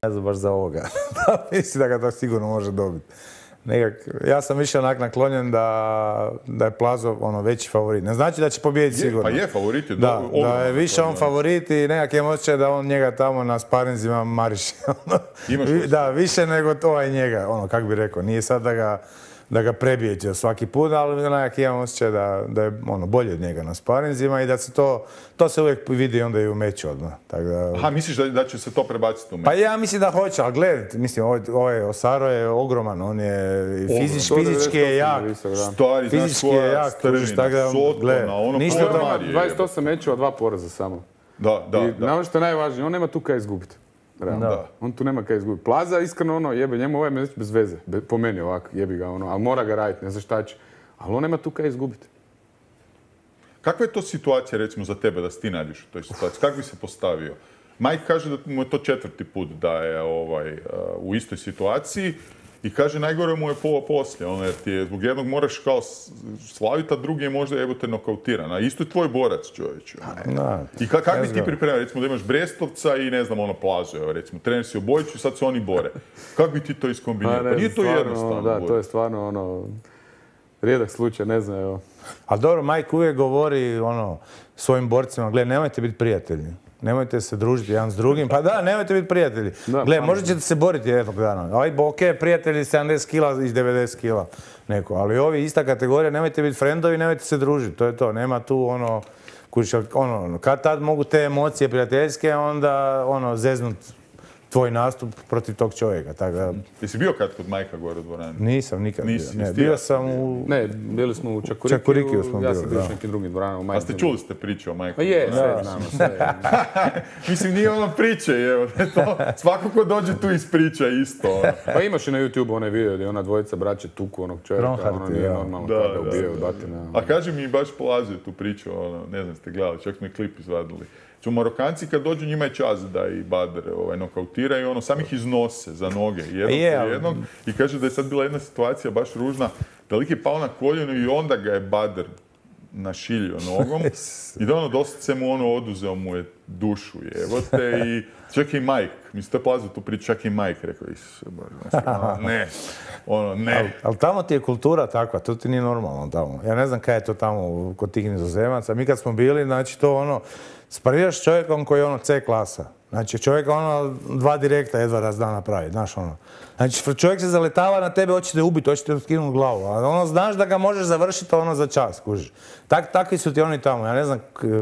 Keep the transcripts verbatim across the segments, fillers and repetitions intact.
Ne znam baš za ovoga. Mislim da ga to sigurno može dobiti. Nekak, ja sam više onak naklonjen da, da je Plazo ono, veći favorit. Ne znači da će pobijediti sigurno. Pa je favorit. Je da, da, da je više on favorit i nekak je osjećaj da on njega tamo na sparinzima mariše. Da, više nego to i njega. Ono, kako bi rekao, nije sad da ga, da ga prebije svaki put, ali nekak imam osjećaj da, da je ono, bolje od njega na sparinzima i da se to, to se uvijek vidi onda i u meču odmah. Tak da... Aha, misliš da, da će se to prebaciti u meč? Pa ja mislim da hoće, ali gledajte, mislim, ovaj, ovaj Osaro je ogroman, on je fizič, fizički je jak. Stari, fizički je jak, strvina, tako da, Sotona, ono ništa to ima dvadeset osam mečeva, dva poraza samo. Da, da, I da. ono što je najvažnije, on nema tu kaj izgubiti. Da. On tu nema kaj izgubiti. Plaza, iskreno, ono, jebe, njemu ovaj meć bez veze. Be, po meni ovako, jebi ga, ono, ali mora ga raditi, ne znam šta će. Ali on nema tu kaj izgubiti. Kakva je to situacija, recimo, za tebe, da si ti nađeš u toj situaciji? Kako bi se postavio? Mike kaže da mu je to četvrti put da je ovaj, uh, u istoj situaciji i kaže najgore mu je pola poslije, ono, jer ti je zbog jednog moraš kao slaviti, a drugi je možda evo te nokautiran. A isto je tvoj borac, čovječe. I ka, kako bi ti pripremio, recimo da imaš Brestovca i ne znam, ono Plazu, evo, recimo, trener si obojiću i sad se oni bore. Kako bi ti to iskombinirao? Pa, pa nije to stvarno, jednostavno. Da, bude. To je stvarno, ono, rijedak slučaj, ne znam, evo. Ali dobro, Mike uvijek govori, ono, svojim borcima, gledaj, nemojte biti prijatelji. Nemojte se družiti jedan s drugim. Pa da, nemojte biti prijatelji. Gle, možda ćete se boriti jednog dana. Ovaj ok, prijatelji sedamdeset kila i devedeset kila neko. Ali ovi ista kategorija, nemojte biti frendovi, nemojte se družiti. To je to. Nema tu ono, kuća, ono, kad tad mogu te emocije prijateljske, onda ono, zeznut tvoj nastup protiv tog čovjeka. Tako da... Jesi bio kad kod Majka gore u dvorani? Nisam nikad Nisi, bio. Ne, bio sam u... Ne, bili smo u Čakurikiju. Čakurikiju smo ja bili, sam bio da. u nekim drugim dvoranama. A ste čuli ste priču o Majku? Pa je, sve znamo, sve. Mislim, nije ono priče, evo. To, svako ko dođe tu ispriča isto. Pa imaš i na YouTube onaj video gdje ona dvojica braće tuku onog čovjeka, Ronhardt, ono nije ja. normalno Da, kada da, ubijaju da, batina. A kaži mi, baš polazio tu priču, ono, ne znam ste gledali, čak smo i klip izvadili. Čo Marokanci kad dođu njima je čas da i Badr ovaj, nokautira i ono, sam ih iznose za noge, jednog yeah. jednog. I kaže da je sad bila jedna situacija baš ružna, da lik je pao na koljeno i onda ga je Badr našilio nogom i da ono doslovce mu ono oduzeo mu je dušu, jevote, i čak i Mike, mislim to je Plazo tu priču, čak i Mike rekao, Isuse Bože, ne, ono, ne. Ali al tamo ti je kultura takva, to ti nije normalno tamo. Ja ne znam kaj je to tamo kod tih Nizozemaca. Mi kad smo bili, znači to ono, spariraš s čovjekom koji je ono C klasa. Znači čovjek ono dva direkta jedva raz da napravi, znaš ono. Znači čovjek se zaletava na tebe, hoće te ubiti, hoće te skinuti glavu, a ono znaš da ga možeš završiti ono za čas, kužiš. Tak, takvi su ti oni tamo, ja ne znam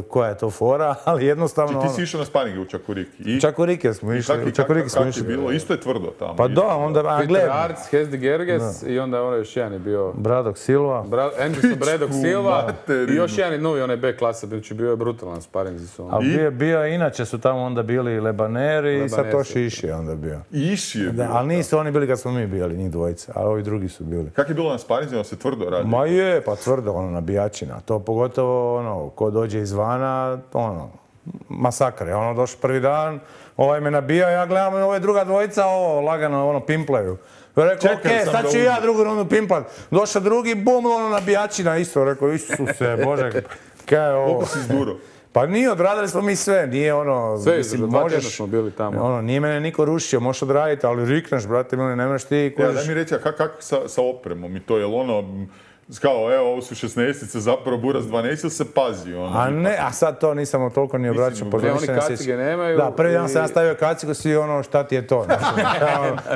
koja je to fora, ali jednostavno... Či ti si išao na sparinge u Čakuriki? I... Čakurike smo išli, u Čakuriki smo išli. Kako je bilo? Isto je tvrdo tamo. Pa da, onda, a Peter gled... Arts, Hesdi Gerges i onda ono još jedan je bio... Bradok Silva. Bra... Anderson Bradok Silva materinu. i još jedan je novi, onaj B klasa, znači bio je brutalan sparingzi su ono. A bio, bio, inače su tamo onda bili Lebaneri i Satoshi Ishii je onda bio. Ishii je bio. Ali nisu oni bili kad smo mi bili, njih dvojica, a ovi drugi su bili. Kako je bilo na sparingzima, se tvrdo radi? Ma je, pa tvrdo, ono, nabijačina. To pogotovo, ono, ko dođe izvana, ono, masakr je. Ono, došao prvi dan, ovaj me nabija, ja gledam, ove druga dvojica, ovo, lagano, ono, pimplaju. Rekao, okej, okay, sad ću ja drugu rundu pimplat. Došao drugi, bum, ono, nabijačina isto. Rekao, Isuse, Bože, kaj je ovo? Koliko si izduro? Pa nije, odradili smo mi sve, nije ono... Sve, mislim, dva možeš, tjedna smo bili tamo. Ono, nije mene niko rušio, možeš odraditi, ali rikneš, brate, mili, ne možeš ti... Ja, daj mi reći, a kako kak sa, sa opremom i to, je li ono... Kao, evo, ovo su šesnaestice, zapravo Buras dvanaest, ili se pazi ono? A ne, a sad to nisam toliko ni obraćao. Ne, oni kacige nemaju. Da, prvi dan sam ja stavio kacigu, svi ono, šta ti je to?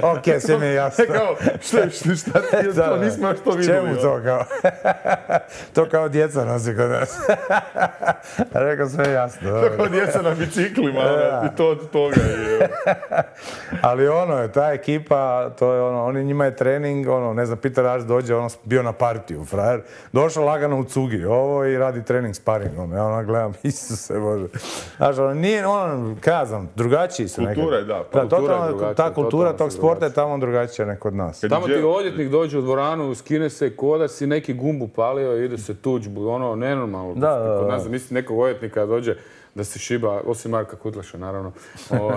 Ok, sve mi je jasno. Kao, šta, šta ti je to? Nismo još to vidjeli. Čemu to kao? To kao djeca nosi kod nas. Rekao, sve jasno. To kao djeca na biciklima, i to od toga je. Ali ono, ta ekipa, to je ono, oni njima je trening, ono, ne znam, Peter Arts dođe, ono, bio na partiju, frajer. Došao lagano u cugi, ovo i radi trening sparing, ono, ja ono gledam, Isuse Bože. Znaš, ono, nije, ono, kaj ja znam, drugačiji su nekako. Kultura je, da. Da, kultura totalno, je drugačija, ta kultura totalno tog sporta je tamo drugačija nek kod nas. Tamo ti odjetnik dođe u dvoranu, skine se ko da si neki gumbu palio i ide se tuđbu, ono, nenormalno. Da, da, da. Kod nas, mislim, nekog odjetnika dođe da se šiba, osim Marka Kutlaša, naravno. O,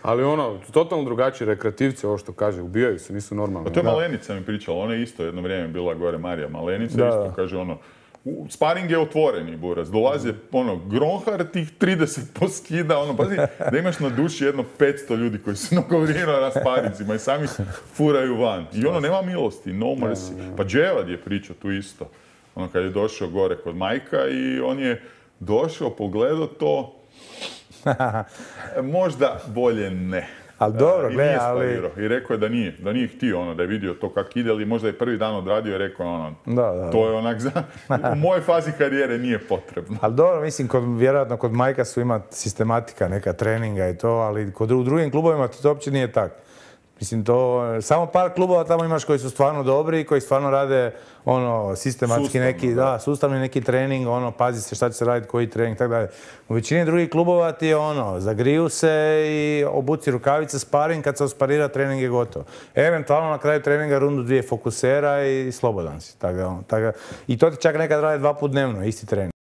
ali ono, totalno drugačiji rekreativci, ovo što kaže, ubijaju se, nisu normalni. Pa to je Malenica mi pričala, ona je isto jedno vrijeme bila gore, Marija Malenica, da, isto da. kaže ono, Sparing je otvoreni, buraz. Dolaze, ono, Gronhar tih trideset poskida, ono, pazi, da imaš na duši jedno petsto ljudi koji su nogovirali na sparingima i sami furaju van. I ono, nema milosti, no mercy. Pa Dževad je pričao tu isto. Ono, kad je došao gore kod Majka i on je došao, pogledao to, možda bolje ne. Ali dobro, I gle, nije ali... sparirao. I rekao je da nije, da nije htio ono, da je vidio to kak ide, ali možda je prvi dan odradio i rekao ono, Da, da, to je onak za... U mojoj fazi karijere nije potrebno. Ali dobro, mislim, kod, vjerojatno kod Majka su ima sistematika, neka treninga i to, ali kod, u drugim klubovima to uopće nije tako. Mislim, to, samo par klubova tamo imaš koji su stvarno dobri i koji stvarno rade ono, sistematski Sustavno, neki, da. da, sustavni neki trening, ono, pazi se šta će se raditi, koji trening, tako dalje. U većini drugih klubova ti je ono, zagriju se i obuci rukavice, sparing, kad se osparira, trening je gotov. Eventualno na kraju treninga rundu dvije fokusera i slobodan si. Tako, da, ono, tako, da. I to ti čak nekad rade dva put dnevno, isti trening.